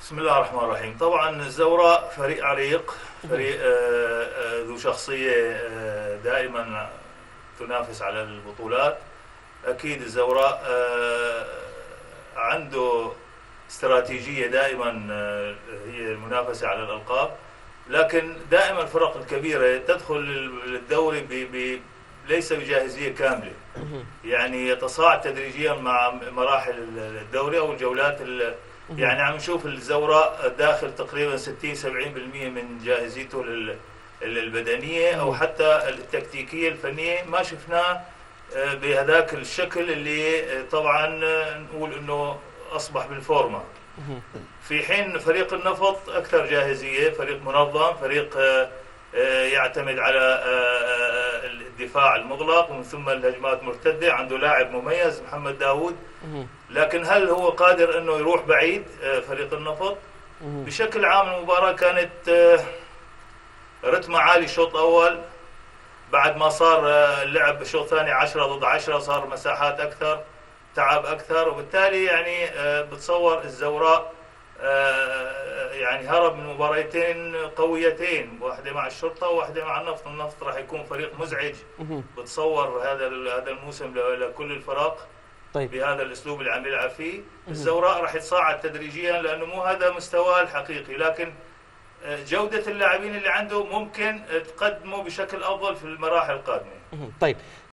بسم الله الرحمن الرحيم. طبعا الزوراء فريق عريق، فريق ذو شخصية دائما تنافس على البطولات. أكيد الزوراء عنده استراتيجية دائما هي المنافسة على الألقاب، لكن دائما الفرق الكبيرة تدخل الدوري ليس بجاهزية كاملة، يعني يتصاعد تدريجيا مع مراحل الدوري أو الجولات. يعني عم نشوف الزوراء داخل تقريبا 60-70% من جاهزيته البدنية أو حتى التكتيكية الفنية، ما شفناه بهذاك الشكل اللي طبعا نقول انه اصبح بالفورمة. في حين فريق النفط اكثر جاهزية، فريق منظم، فريق يعتمد على الدفاع المغلق ومن ثم الهجمات مرتدة، عنده لاعب مميز محمد داوود، لكن هل هو قادر انه يروح بعيد؟ فريق النفط بشكل عام المباراة كانت رتمها عالي. الشوط الاول بعد ما صار اللعب بالشوط الثاني 10 ضد 10 صار مساحات اكثر، تعب اكثر، وبالتالي يعني بتصور الزوراء يعني هرب من مباراتين قويتين، واحدة مع الشرطة وواحدة مع النفط. النفط راح يكون فريق مزعج بتصور هذا الموسم لكل الفرق. طيب. بهذا الاسلوب اللي عم يلعب فيه الزوراء راح يتصاعد تدريجيا لانه مو هذا مستواه الحقيقي، لكن جودة اللاعبين اللي عنده ممكن تقدمه بشكل افضل في المراحل القادمة. طيب